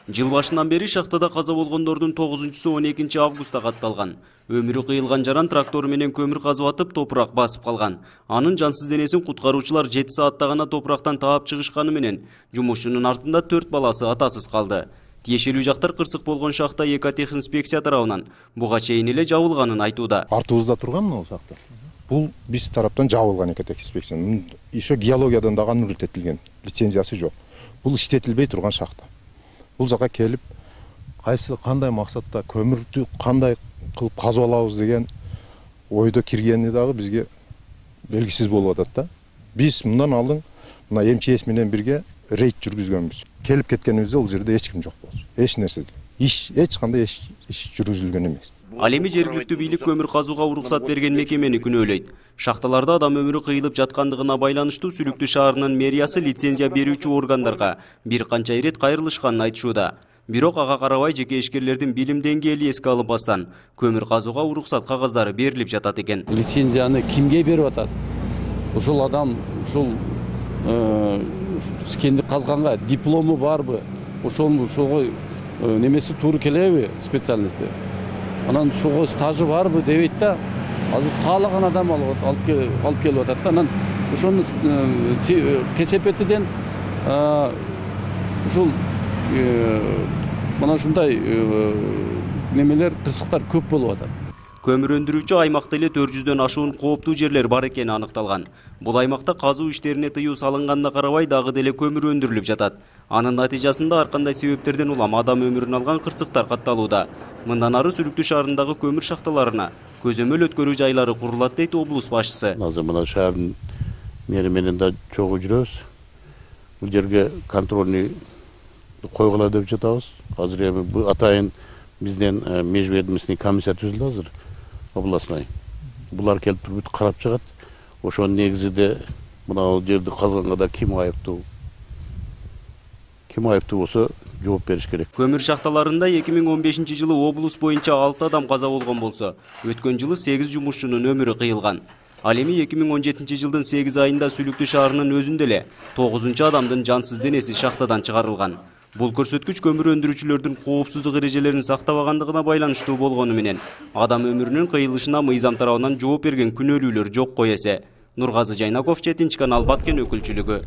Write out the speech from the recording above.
Жыл башынан бери шахтада каза болгондордун 9-су 12 августта катталган. Өмүрү кыйылган жаран трактору менен көмүр казып атып топурак басып калган. Анын жансыз денесин куткаруучулар 7 саатта гана топурактан таап чыгышканы менен жумушчунун артында 4 баласы атасыз калды. Тиешелүү жактар кырсык болгон шахта экотехинспекция тарабынан буга чейин эле жабылганын айтууда. Артыбызда турган мына шахта. Бул биз тараптан жабылган экотехинспекция. Еще геологиядан да нүртетилген, лицензиясы жок. Бул иштетилбей турган шахта. Бул жака келип, кандай максатта көмүрдү кандай кылып казып алабыз деген ойдо киргени дагы бизге белгисиз болуп атат да. Биз мындан алдын мына МЧС менен бирге рейд жүргүзгөнбүз. Келип кеткенибизде бул жерде эч ким жок болчу. Эч нерсе, эч кандай иш жүргүзүлгөн эмес. Ал эми жергиликтүү бийлик көмүр казууга уруксат берген мекемени күнөөлөйт. Шахталарда адам өмүрү кыйылып жаткандыгына байланыштуу Сүлүктүү шаарынын мэриясы лицензия берүүчү органдарга бир канча ирет кайрылышканын айтышууда. Бирок ага карабай жеке ишкерлердин билим деңгээли эске алынбастан көмүр казууга уруксат кагаздары берилип жатат экен. Лицензияны кимге берип атат? Ушул адам ушул кенди казганга диплому барбы? Ошого немеси туура келеби специальности? Анан ошого стажы барбы дебейт да. Азыр каалаган адам алып келип атат да. Анан ошону кесепетиден ушул мына ушундай немелер кырсыктар көп болуп атат. Көмүр өндүрүүчү аймакта эле 400дөн ашуун кооптуу жерлер бар экени аныкталган. Бул аймакта казуу иштерине тыюу салынганда карабай дагы деле көмүр өндүрүлүп жатат. Анын натыйжасында ар кандай себептерден улам адам өмүрүн алган кырсыктар катталууда. Мындан ары Сүлүктүү шаарындагы көмүр шахталарына көзөмөл өткөрүү жайлары курулат дейт облус башчысы. Азыр мына шаардын мэри менен да чогуу жүрөбүз. Бул жерге контрольный койгула деп жатабыз. Азыр эми бул атайын бизден межведомственный комиссия түзүлдү азыр областной. Булар келип туруп карап чыгат. Ошонун негизинде мына жерди казганга да ким айыптуу? Ким айыптуу болсо жооп бериш керек. Көмүр шахталарында 2015-жылы облус боюнча 6 адам каза болгон болсо, өткөн жылы 8 жумушчунун өмүрү кыйылган. Ал эми 2017-жылдын 8 айында Сүлүктүү шаарынын өзүндө эле 9 адамдын жансыз денеси шахтадан чыгарылган. Бул көрсөткүч көмүр өндүрүүчүлөрдүн коопсуздук эрежелерин сактабагандыгына байланыштуу болгону менен адам өмүрүнүн кыйылышына мыйзам тарабынан жооп берген күнөөлүүлөр жок кой эсе. Нургазы Жайнаков, Четинч канал, Баткен өкүлчүлүгү.